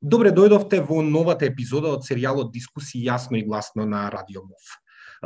Добре дојдовте во новата епизода од серијалот Дискусии јасно и гласно на Радио МОВ.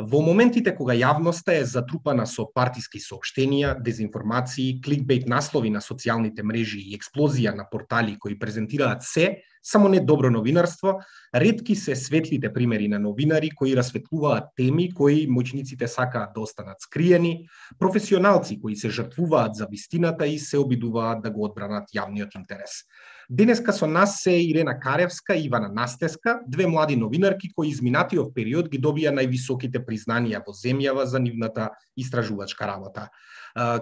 Во моментите кога јавноста е затрупана со партиски соопштенија, дезинформации, кликбейт наслови на социјалните мрежи и експлозија на портали кои презентираат се, само не добро новинарство, ретки се светлите примери на новинари кои расветлуваат теми кои моćниците сакаат да останат скриени, професионалци кои се жртвуваат за вистината и се обидуваат да го одбранат јавниот интерес. Денеска со нас се Ирена Каревска и Ивана Настеска, две млади новинарки кои изминатиот период ги добија највисоките признанија во земјава за нивната истражувачка работа.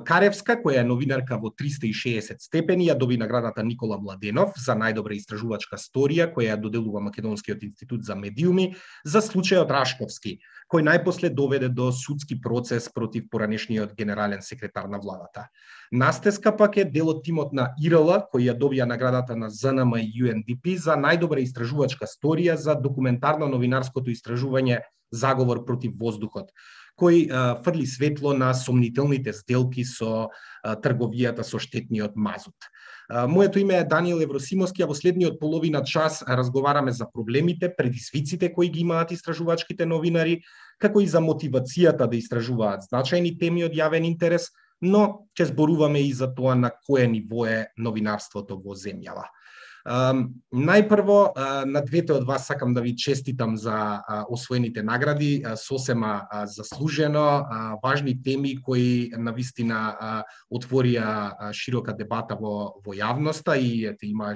Каревска, која е новинарка во 360 степени, ја доби наградата Никола Младенов за најдобра истражувачка сторија, која ја доделува Македонскиот институт за медиуми, за случајот Рашковски, кој најпосле доведе до судски процес против поранешниот генерален секретар на владата. Настеска пак е дел од тимот на ИРЛ, кој ја добија наградата на ЗНМ и UNDP за најдобра истражувачка сторија за документарно новинарското истражување Заговор против воздухот, кој фрли светло на сомнителните сделки со трговијата со штетниот мазут. Моето име е Даниел Евросимовски, а во следниот половина час разговараме за проблемите, предизвиците кои ги имаат истражувачките новинари, како и за мотивацијата да истражуваат значајни теми од јавен интерес, но ќе зборуваме и за тоа на кое ниво е новинарството во земјава. Најпрво, на двете од вас сакам да ви честитам за освоените награди, сосема заслужено, важни теми кои навистина отворија широка дебата во јавноста и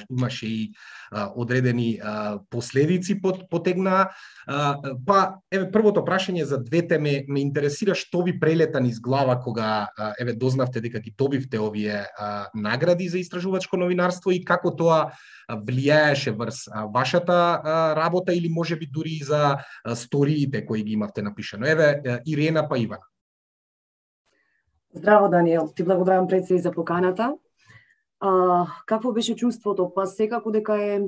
имаше и одредени последици потегнаа. Па, првото прашање за двете ме интересира што ви прелета низ глава кога дознавте дека ги добивте овие награди за истражувачко новинарство и како тоа влијаеше врз вашата работа или можеби дури и за сториите кои ги имавте напишано. Ирена па Ивана. Здраво, Даниел. Ти благодарам пред се и за поканата. Какво беше чувството? Па секако дека е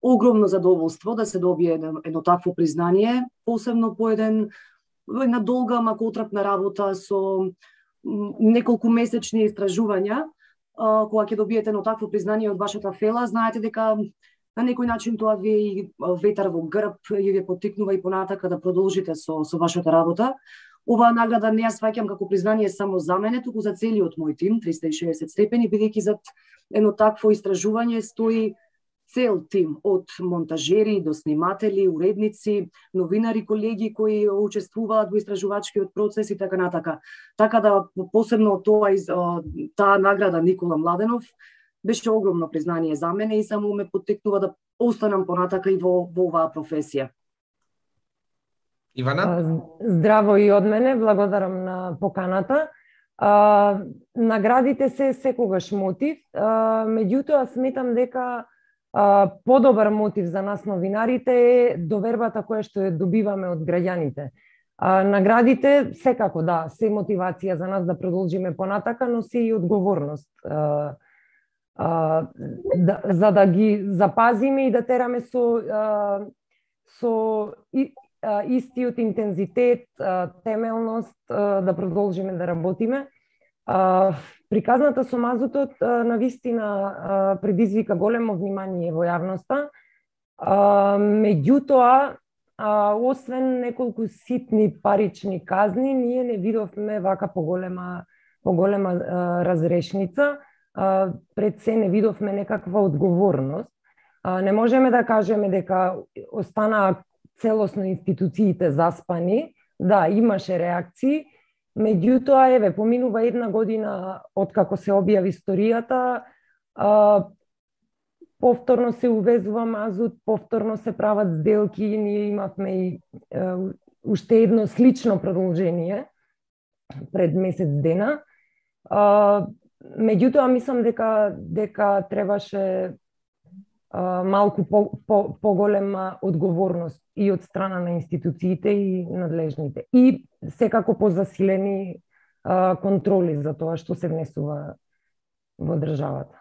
огромно задоволство да се добие едно такво признание, посебно по една долга, мако отрапна работа со неколку месечни истражувања. Кога ќе добиете едно такво признание од вашата фела, знаете дека на некој начин тоа ви е и ветар во грб и ви поттикнува и понатака да продолжите со вашата работа. Оваа награда не ја сваќам како признание само за мене, туку за целиот мој тим, 360 степени, бидејќи зад едно такво истражување стои цел тим од монтажери до сниматели, уредници, новинари, колеги кои учествуваат во истражувачкиот процес и така натака. Така да посебно таа награда Никола Младенов беше огромно признание за мене и само ме поттикнува да останам понатака и во оваа професија. Ивана? Здраво и од мене, благодарам на поканата. Наградите се секогаш мотив, меѓутоа сметам дека подобар мотив за нас новинарите е довербата која што ја добиваме од граѓаните. Наградите секако се мотивација за нас да продолжиме понатака, но се и одговорност за да ги запазиме и да тераме со истиот интензитет, темелност да продолжиме да работиме. Приказната со мазутот навистина предизвика големо внимание во јавноста. Меѓутоа, освен неколку ситни парични казни, ние не видовме вака поголема разрешница. Пред се не видовме некаква одговорност. Не можеме да кажеме дека останаа целосно институциите заспани. Да, имаше реакции. Меѓутоа, поминува една година откако се објави историјата, повторно се увезува мазут, повторно се прават сделки, ние имавме и уште едно слично продолжение пред месец дена. Меѓутоа, мислам дека требаше малку поголема одговорност и од страна на институциите и надлежните. И секако позасилени контроли за тоа што се внесува во државата.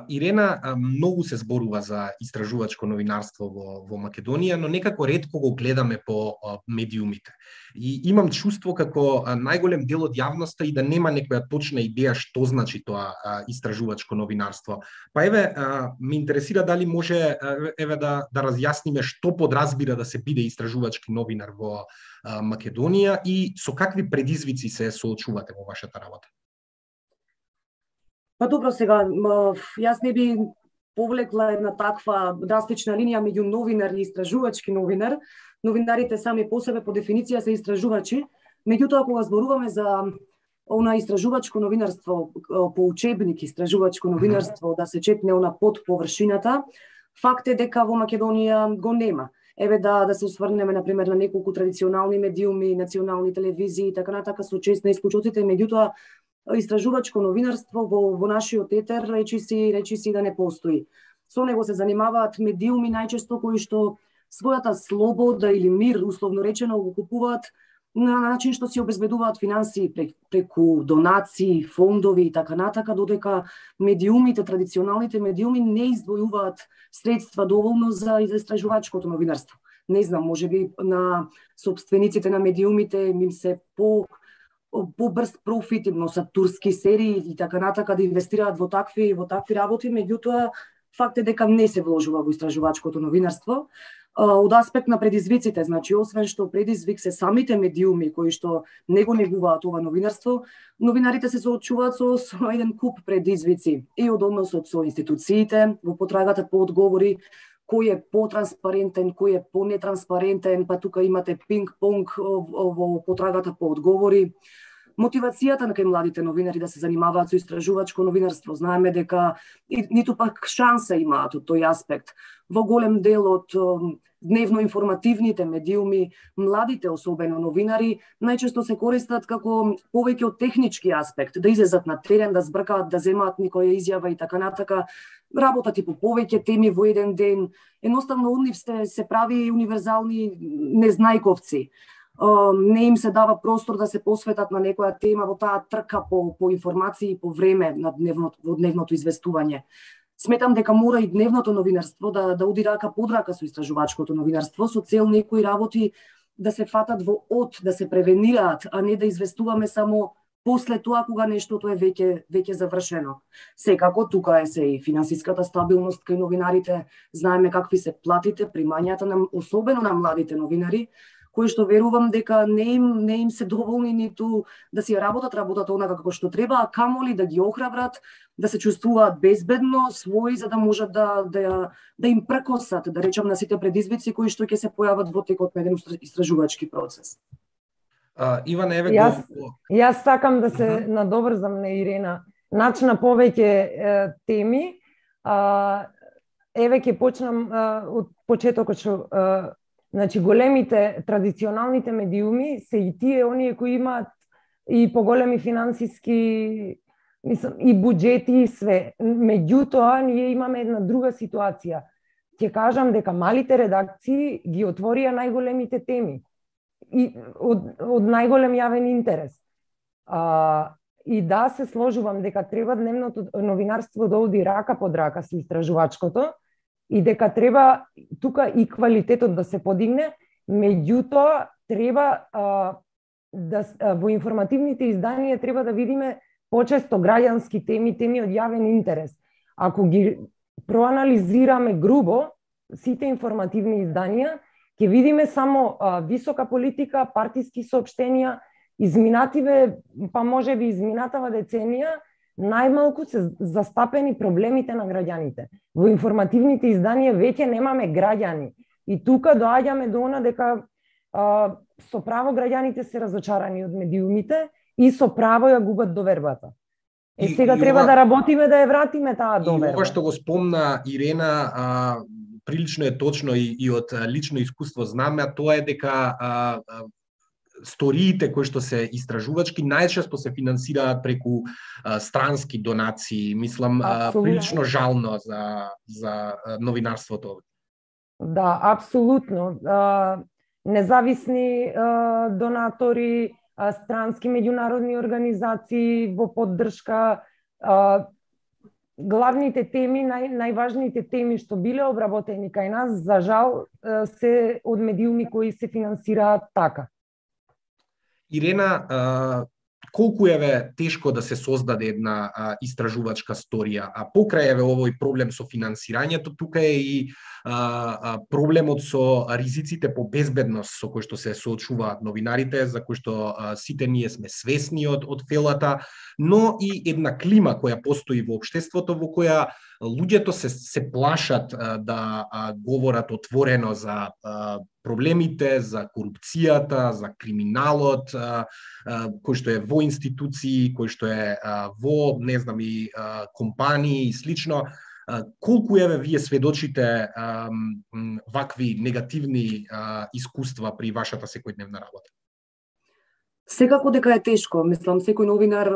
Ирена, многу се зборува за истражувачко новинарство во Македонија, но некако ретко го гледаме по медиумите. И имам чувство како најголем дел од јавноста и да нема некоја точна идеја што значи тоа истражувачко новинарство. Па ме интересира дали може да разјасниме што подразбира да се биде истражувачки новинар во Македонија и со какви предизвици се соочувате во вашата работа. Па добро, сега, јас не би повлекла една таква драстична линија меѓу новинар и истражувачки новинар. Новинарите сами по себе по дефиниција се истражувачи, меѓутоа кога зборуваме за она истражувачко новинарство, по учебник истражувачко новинарство, да се чепне она под површината, факт е дека во Македонија го нема. Да се осврнеме, например, на неколку традиционални медиуми, национални телевизии и така натака со чест на исклучоците, меѓутоа истражувачко новинарство во нашиот етер речиси да не постои. Со него се занимаваат медиуми најчесто кои што својата слобода или мир, условно речено, го купуваат на начин што си обезбедуваат финансии преку донации, фондови и така натака, додека медиумите, традиционалните медиуми не издвојуваат средства доволно за истражувачкото новинарство. Не знам, можеби на сопствениците на медиумите им се побрз профит, им носат турски серии и така натака да инвестираат во такви работи, меѓутоа факт е дека не се вложува во истражувачкото новинарство. Од аспект на предизвиците, значи освен што предизвик се самите медиуми кои што не го негуваат ова новинарство, новинарите се соочуваат со еден куп предизвици и од односот со институциите во потрагата по одговори, кој е потранспарентен, кој е понетранспарентен, па тука имате пинг-понг во потрагата по одговори. Мотивацијата на кај младите новинари да се занимаваат со истражувачко новинарство, знаеме дека ниту пак шанса имаат од тој аспект. Во голем дел од дневно информативните медиуми, младите особено новинари, најчесто се користат како повеќе од технички аспект, да излезат на терен, да збркаат, да земаат некоја изјава и така натака, работат и по повеќе теми во еден ден. Едноставно од нив се прави универзални незнајковци. Не им се дава простор да се посветат на некоја тема во таа трка по информации по време на дневното известување. Сметам дека мора и дневното новинарство да уди рака под рака со истражувачкото новинарство со цел некои работи да се фатат во да се превенираат, а не да известуваме само после тоа кога нештото е веќе завршено. Секако тука е се и финансиската стабилност кај новинарите, знаеме какви се платите, примањата особено на младите новинари, кои што верувам дека не им се доволни ниту да си работат онака како што треба, а камоли да ги охрабрат, да се чувствуваат безбедно, своји, за да можат да им прекосат, да речам, на сите предизвици кои што ќе се појават во текот на еден истражувачки процес. Иван, Јас сакам да се надоврзам на Ирена. Начна повеќе теми. Ќе почнам од почетокот што значи, големите традиционалните медиуми се и тие оние кои имаат и поголеми финансиски и буџети и све. Меѓутоа, ние имаме една друга ситуација. Ќе кажам дека малите редакции ги отворија најголемите теми и од најголем јавен интерес. И да, се сложувам дека треба дневното новинарство да оди рака под рака со истражувачкото, и дека треба тука и квалитетот да се подигне, меѓутоа треба во информативните изданија треба да видиме почесто граѓански теми од јавен интерес. Ако ги проанализираме грубо сите информативни изданија, ќе видиме само висока политика, партиски соопштенија, изминативе, па можеби изминатава деценија, најмалку се застапени проблемите на граѓаните. Во информативните изданија веќе немаме граѓани. И тука доаѓаме до она дека со право граѓаните се разочарани од медиумите и со право ја губат довербата. Сега треба да работиме да ја вратиме таа доверба. И ова што го спомна Ирена, прилично е точно и од лично искуство знаме, а тоа е дека сториите кои што се истражувачки најчесто се финансираат преку странски донации. Мислам, прилично жално за новинарството. Да, апсолутно. Независни донатори, странски меѓународни организации во поддршка, главните теми, најважните теми што биле обработени кај нас, за жал, се од медиуми кои се финансираат така. Ирена, колку е тешко да се создаде една истражувачка сторија, а покрај овој проблем со финансирањето, тука е и проблемот со ризиците по безбедност со кои што се соочуваат новинарите, за кои што сите ние сме свесни од фелата, но и една клима која постои во општеството во која луѓето се плашат да говорат отворено за проблемите, за корупцијата, за криминалот, кој што е во институции, кој што е во, не знам, и компании и слично. Колку вие сведочите вакви негативни искуства при вашата секојдневна работа? Секако дека е тешко. Мислам, секој новинар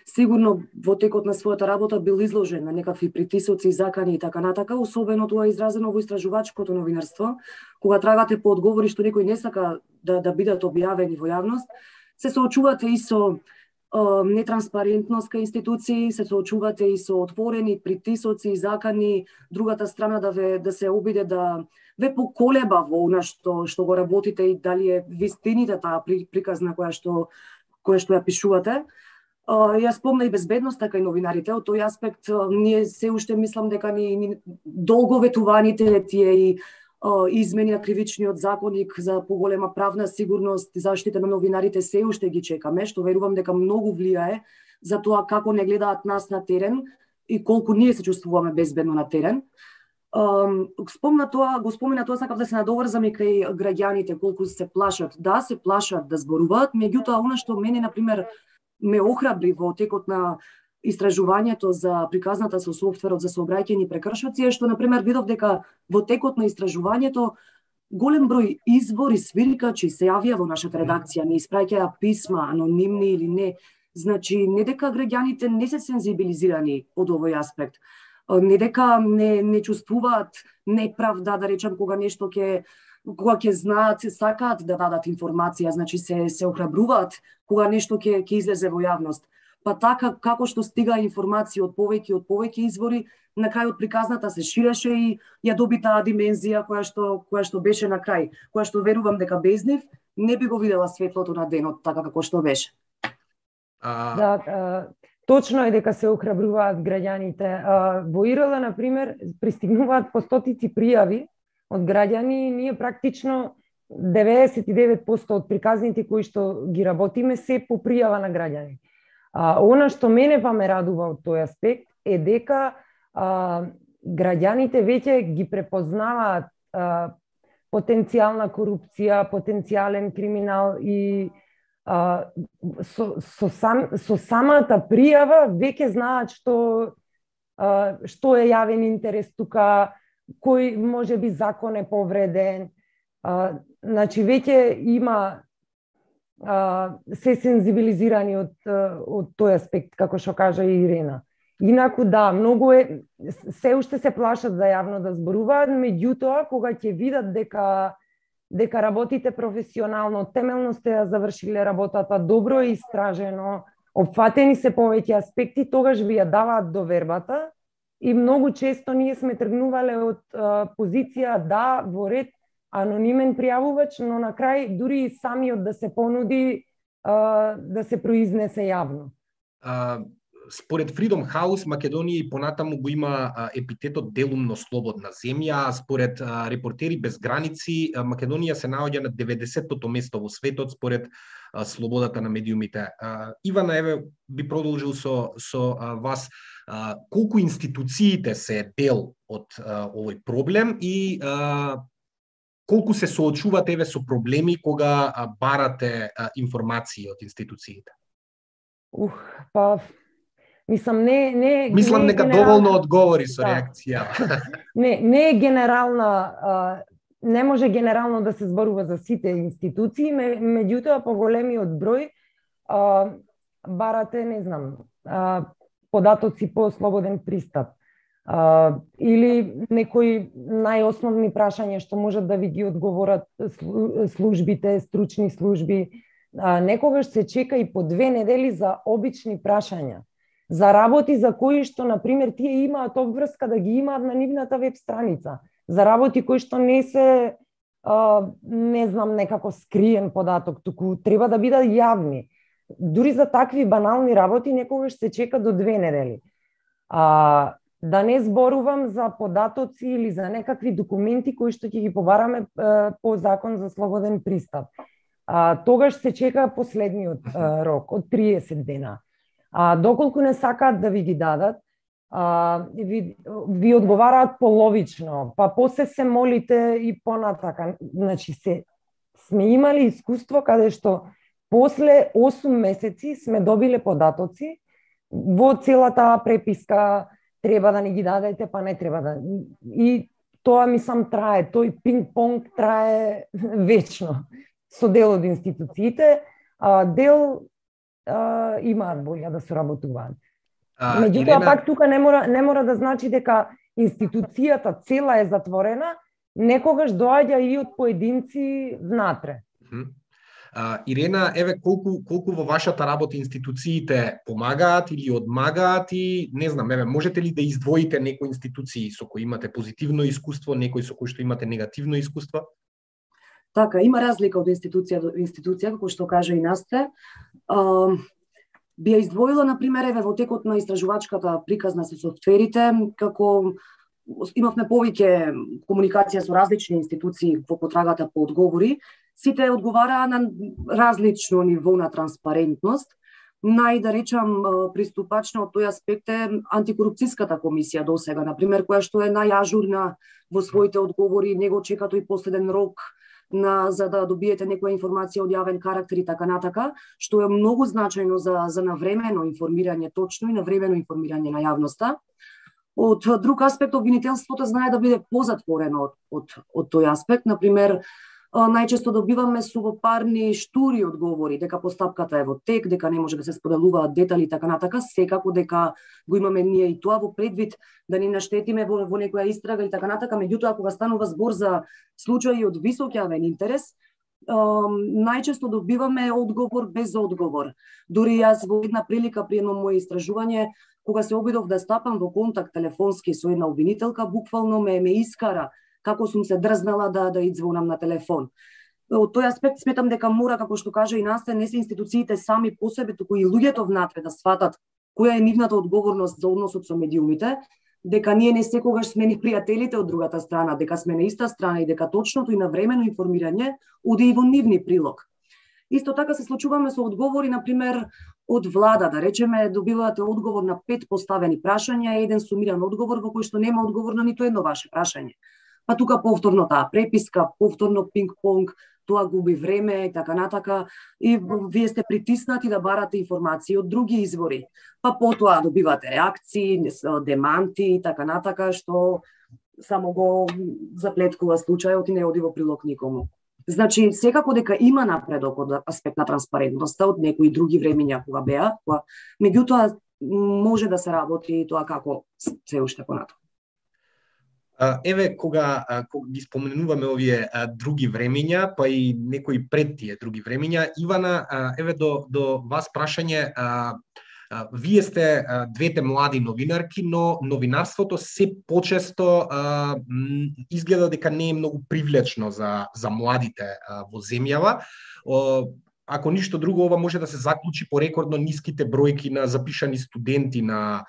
сигурно во текот на својата работа бил изложен на некакви притисоци, закани и така натака, особено тоа е изразено во истражувачкото новинарство, кога трагате по одговори што некој не сака да бидат објавени во јавност, се соочувате и со нетранспарентност кај институции, се соочувате и со отворени притисоци и закани, другата страна да се обиде да ве поколеба во она што го работите и дали е вистината таа приказна која што ја пишувате. Ја спомна и безбедноста кај новинарите, од тој аспект ние се уште мислам дека ни долго ветуваните тие и измени на кривичниот законник за поголема правна сигурност и заштита на новинарите се уште ги чекаме, што верувам дека многу влијае за тоа како не гледаат нас на терен и колку ние се чувствуваме безбедно на терен. Го спомена тоа, сакав да се надоврзам и кај граѓаните, колку се плашат. Да, се плашат да зборуваат, меѓутоа она што мене, например, ме охрабри во текот на истражувањето за приказната со софтверот за сообраќајни прекршоци е што, например, видов дека во текот на истражувањето голем број извори свиркачи се јавија во нашата редакција, не испраќаја писма, анонимни или не. Значи, не дека граѓаните не се сензибилизирани од овој аспект, не дека не чувствуваат неправда, да речам, кога нешто кога ќе знаат, сакаат да дадат информација, значи се охрабруваат кога нешто ќе излезе во јавност. Па така, како што стига информација од повеќе извори, на крајот приказната се ширеше и ја доби таа димензија која што беше на крај, која што верувам дека без нив не би го видела светлото на денот така како што беше. Да, точно е дека се охрабруваат граѓаните. Во ИРЛ, например, пристигнуваат по стотици пријави од граѓани и ние практично 99% од приказните кои што ги работиме се по пријава на граѓани. Она што мене па ме радува од тој аспект е дека граѓаните веќе ги препознаваат потенцијална корупција, потенцијален криминал и со самата пријава веќе знаат што е јавен интерес тука, кој можеби закон е повреден. Значи веќе има се сензибилизирани од тој аспект, како што кажа и Ирена. Инаку да, многу се уште се плашат за јавно да зборуваат, меѓутоа кога ќе видат дека работите професионално, темелно сте ја завршиле работата, добро е истражено, опфатени се повеќе аспекти, тогаш ви ја даваат довербата и многу често ние сме тргнувале од позиција да во ред анонимен пријавувач, но на крај дури и самиот да се понуди да се произнесе јавно. Според Freedom House, Македонија и понатаму го има епитетот делумно слободна земја, а според Репортери без граници, Македонија се наоѓа на 90-тото место во светот според слободата на медиумите. Ивана, еве би продолжил со вас, колку институциите се дел од овој проблем и колку се соочувате со проблеми кога барате информации од институциите? Мислам, Мислам нека доволно одговори со реакција. Не е генерална, не може генерално да се зборува за сите институции, меѓутоа по големиот број барате, не знам, податоци по слободен пристап или некои најосновни прашања што можат да ви ги одговорат службите, стручни служби. Некогаш се чека и по 2 недели за обични прашања. за работи за кои што, например, тие имаат обврска да ги имаат на нивната веб страница, за работи кои што не се, не знам, некако скриен податок, туку треба да бидат јавни. Дури за такви банални работи некогаш се чека до 2 недели. Да не зборувам за податоци или за некакви документи кои што ќе ги побараме по закон за слободен пристап. Тогаш се чека последниот рок од 30 дена. Доколку не сакаат да ви ги дадат, ви одговараат половично, па после се молите и понатака. Значи сме имали искуство каде што после 8 месеци сме добиле податоци во целата преписка, треба да ни ги дадете, па не треба да. И тоа мислам трае, тој пинг-понг трае вечно со дел од институциите, дел имаат волја да соработуваат. Меѓутоа, пак тука не мора да значи дека институцијата цела е затворена, некогаш доаѓа и од поединци внатре. Ирена, еве колку во вашата работа институциите помагаат или одмагаат и не знам, еве можете ли да издвоите некои институции со кои имате позитивно искуство, некои со кои што имате негативно искуство? Така, има разлика од институција до институција, како што кажа и Насте. Би ја издвоила, например, еве во текот на истражувачката приказна со софтверите, како имавме повеќе комуникација со различни институции во потрагата по одговори, сите одговараа на различно ниво на транспарентност. Да речам, приступачна од тој аспект е антикорупцијската комисија досега, например, која што е најажурна во своите одговори, него чека тој последен рок за да добиете некоја информација од јавен карактер и така натака, што е многу значајно за навремено информирање, точно и навремено информирање на јавноста. Од друг аспект, обвинителството знае да биде позатворено од тој аспект. Например, најчесто добиваме субопарни штури одговори, дека постапката е во тек, дека не може да се споделуваат детали и така натака, секако дека го имаме ние и тоа во предвид да ни наштетиме во некоја истрага и така натака, меѓутоа кога станува збор за случаи од висок јавен интерес, најчесто добиваме одговор без одговор. Дури јас во една прилика при едно моје истражување, кога се обидов да стапам во контакт телефонски со една обвинителка, буквално ме искара како сум се дрзнала да идзвонам на телефон. Од тој аспект сметам дека мора, како што кажа и Насте, не се институциите сами по себе, туку и луѓето внатре да сватат која е нивната одговорност за односот со медиумите, дека ние не секогаш сме ни пријателите од другата страна, дека сме на иста страна и дека точното и навремено информирање оди и во нивни прилог. Исто така се случуваме со одговори, например, од влада, да речеме, добивате одговор на 5 поставени прашања, еден сумиран одговор во кој што нема одговор на ниту едно ваше прашање. Па тука повторно таа преписка, повторно пинг-понг, тоа губи време и така натака, и вие сте притиснати да барате информации од други извори. Па потоа добивате реакции, деманти и така натака, што само го заплеткува случајот и не оди во прилог никому. Значи, секако дека има напредок од аспект на транспарентноста од некои други времиња кога беа, меѓутоа може да се работи тоа како се уште понатаму. Еве, кога ги споменуваме овие други времиња, па и некои пред тие други времиња, Ивана, еве до вас прашање, вие сте двете млади новинарки, но новинарството се почесто изгледа дека не е многу привлечно за младите во земјава. Ако ништо друго, ова може да се заклучи по рекордно ниските бројки на запишани студенти на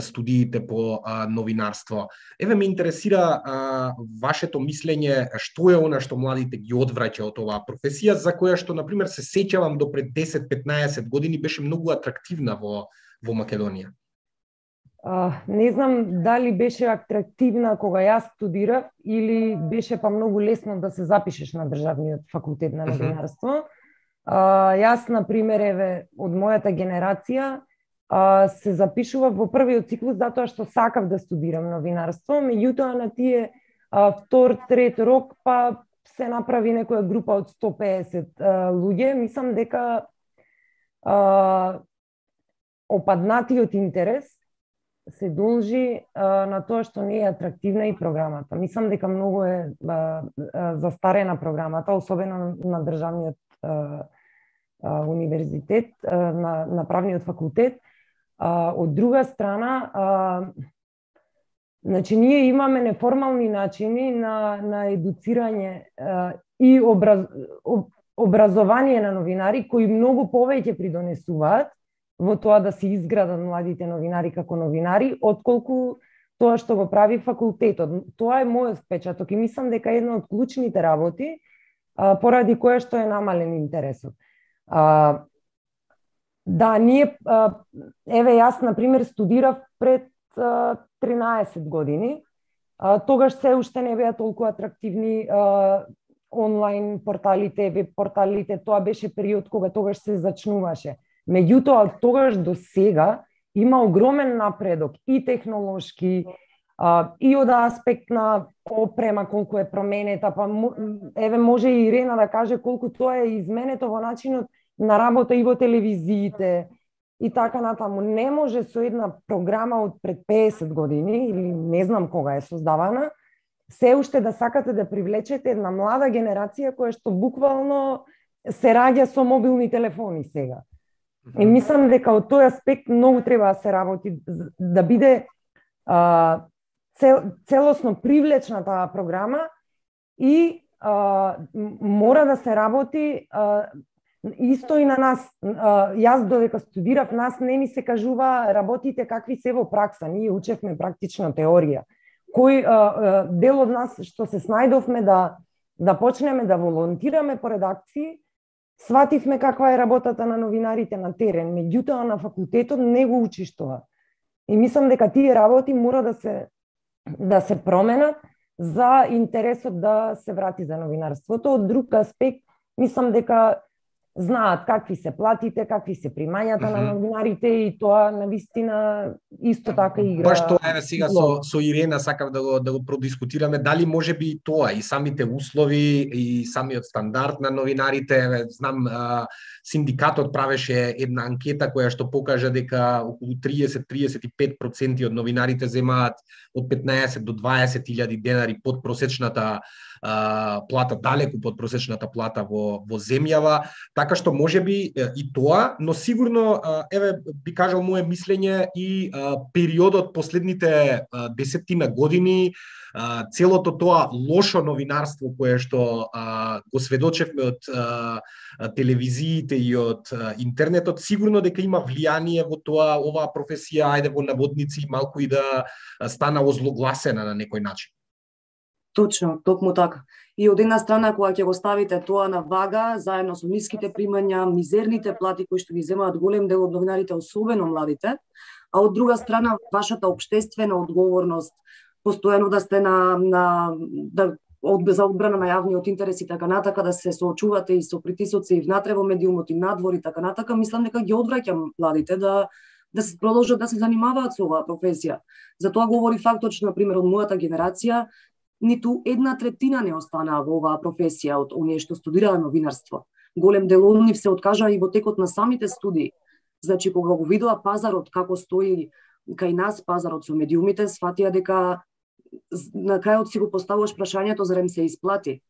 студиите по новинарство. Еве ме интересира вашето мислење, што е она што младите ги одвраќа од оваа професија, за која што, например, се сеќавам до пред 10-15 години беше многу атрактивна во Македонија. Не знам дали беше атрактивна кога јас студирав или беше па многу лесно да се запишеш на државниот факултет на новинарство. Јас, например, еве, од мојата генерација се запишував во првиот циклус затоа што сакав да студирам новинарство, меѓутоа на тие втор, трет рок па се направи некоја група од 150 луѓе. Мислам дека опаднатиот интерес се должи на тоа што не е атрактивна и програмата. Мислам дека многу е застарена програмата, особено на државниот универзитет, на правниот факултет. Од друга страна, значи ние имаме неформални начини на едуцирање и образование на новинари кои многу повеќе придонесуваат во тоа да се изградат младите новинари како новинари, отколку тоа што го прави факултетот. Тоа е мојот впечаток и мислам дека една од клучните работи поради која што е намален интересот. Да, ние, еве јас, например, студирав пред 13 години, тогаш се уште не беа толку атрактивни онлайн порталите, веб порталите, тоа беше период кога тогаш се зачнуваше. Меѓутоа, од тогаш до сега има огромен напредок и технолошки, и од аспект на опрема колку е променета, па еве може и Ирена да каже колку тоа е изменето во начинот на работа и во телевизиите и така натаму. Не може со една програма од пред 50 години или не знам кога е создавана, се уште да сакате да привлечете една млада генерација која што буквално се раѓа со мобилни телефони сега. И мислам дека од тој аспект многу треба да се работи, да биде целосно привлечна таа програма и мора да се работи исто и на нас. Јас додека студирав, нас не ни се кажува работите какви се во пракса. Ние учевме практична теорија. Кој дел од нас што се снајдовме да почнеме да волонтираме по редакции, свативме каква е работата на новинарите на терен, меѓутоа на факултетот не го учиш тоа. И мислам дека тие работи мора да се променат за интересот да се врати за новинарството. Од друг аспект, мислам дека знаат какви се платите, какви се примањата на новинарите и тоа навистина исто така игра. Баш тоа еве сега со Ирена сакав да го продискутираме, дали можеби и тоа и самите услови и самиот стандард на новинарите. Еве знам синдикатот правеше една анкета која што покажа дека околу 30-35% од новинарите земаат од 15 до 20.000 денари под просечната плата, далеку под просечната плата во земјава, така што можеби и тоа, но сигурно еве би кажал мое мислење и периодот последните 10 години, целото тоа лошо новинарство кое што го сведочевме од телевизиите и од интернетот, сигурно дека има влијание во тоа оваа професија, ајде во наводници, малку и да стана озлогласена на некој начин. Точно, токму така. И од една страна, кога ќе го ставите тоа на вага, заедно со ниските примања, мизерните плати кои што ги земаат голем дел од новинарите, особено младите, а од друга страна, вашата општествена одговорност, постојано да сте за одбрана на јавниот интерес и така натака, да се соочувате и со притисоци и внатре во медиумот и надвор и така натака, мислам дека ги одвраќам младите да се продолжат да се занимаваат со оваа професија. Затоа говори фактот што, например, од мојата генерација, ниту 1/3 не останаа во оваа професија од оние што студираа новинарство. Голем дел од нив се откажаа и во текот на самите студии. Значи, кога го видоа пазарот како стои кај нас, пазарот со медиумите, сфатија дека на крајот си го поставуваш прашањето зарем се исплати.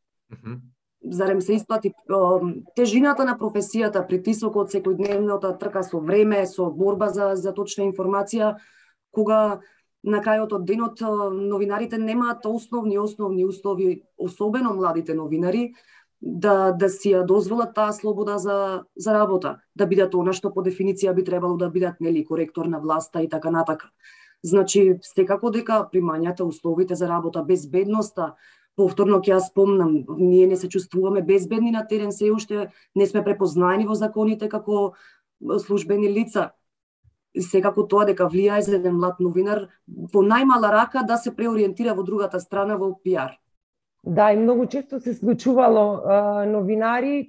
Зарем се исплати тежината на професијата, притисокот, секојдневната трка со време, со борба за точна информација, кога на крајот од денот новинарите немаат основни услови, особено младите новинари, да си ја дозволат таа слобода за работа, да бидат она што по дефиниција би требало да бидат, нели, коректор на власта и така натака. Значи, секако дека примањата, условите за работа, безбедноста, повторно ќе ја спомнам, ние не се чувствуваме безбедни на терен, се уште не сме препознаени во законите како службени лица. Секако тоа дека влијае за еден млад новинар во најмала рака да се преориентира во другата страна во пиар. Да, и многу често се случувало новинари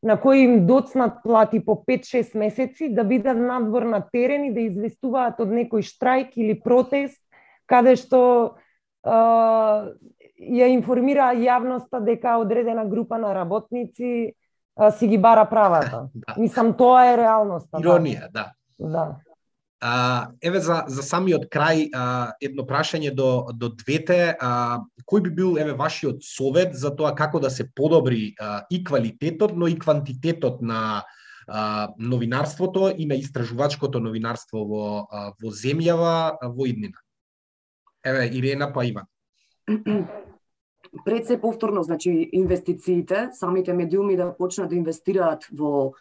на кои им доцнат плати по 5-6 месеци да бидат надвор на терен и да известуваат од некој штрајк или протест, каде што ја информира јавноста дека одредена група на работници си ги бара правата. Мислам, тоа е реалноста. Иронија, да. Да. Еве за самиот крај едно прашање до двете, кој би бил еве вашиот совет за тоа како да се подобри и квалитетот, но и квантитетот на новинарството и на истражувачкото новинарство во земјава во иднина? Еве, Ирена па Иван. Пред се повторно, значи, инвестициите, самите медиуми да почнат да инвестираат во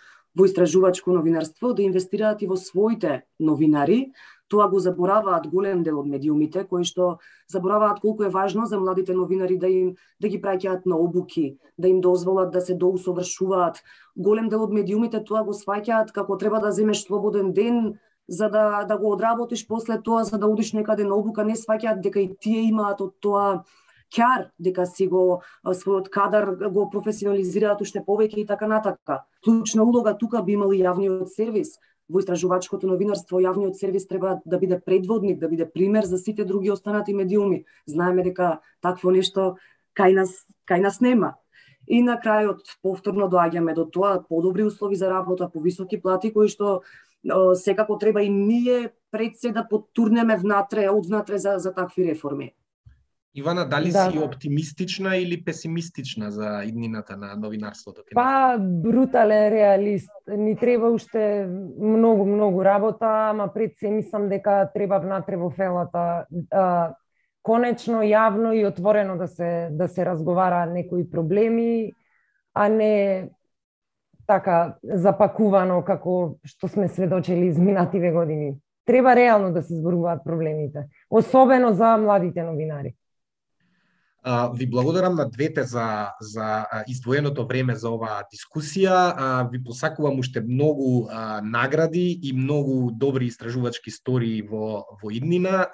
истражувачко новинарство, да инвестираат и во своите новинари. Тоа го забораваат голем дел од медиумите, кои што забораваат колку е важно за младите новинари да ги праќаат на обуки, да им дозволат да се доусовршуваат. Голем дел од медиумите тоа го сваќаат како треба да земеш слободен ден за да го одработиш после тоа, за да одиш некаде на обука, не сваќаат дека и тие имаат од тоа ќар, дека си го својот кадар го професионализираат уште повеќе и така натака. Клучна улога тука би имал и јавниот сервис. Во истражувачкото новинарство јавниот сервис треба да биде предводник, да биде пример за сите други останати медиуми. Знаеме дека такво нешто кај нас нема. И на крајот повторно доаѓаме до тоа подобри услови за работа, повисоки плати кои што секако треба и ние пред се да потурнеме одвнатре за такви реформи. Ивана, дали си оптимистична или песимистична за иднината на новинарството? Па, брутален реалист. Ни треба уште многу работа, ама пред се мислам дека треба внатре во фелата конечно, јавно и отворено да се разговара некои проблеми, а не така запакувано како што сме сведочели изминативе години. Треба реално да се зборуваат проблемите, особено за младите новинари. Ви благодарам на двете за издвоеното време за оваа дискусија. Ви посакувам уште многу награди и многу добри истражувачки истории во иднина.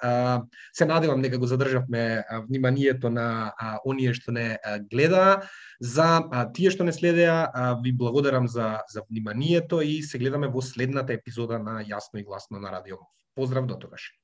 Се надевам дека го задржавме вниманието на оние што не гледаа. За тие што не следеа, ви благодарам за вниманието и се гледаме во следната епизода на Јасно и гласно на Радио МОВ. Поздрав до тогаш.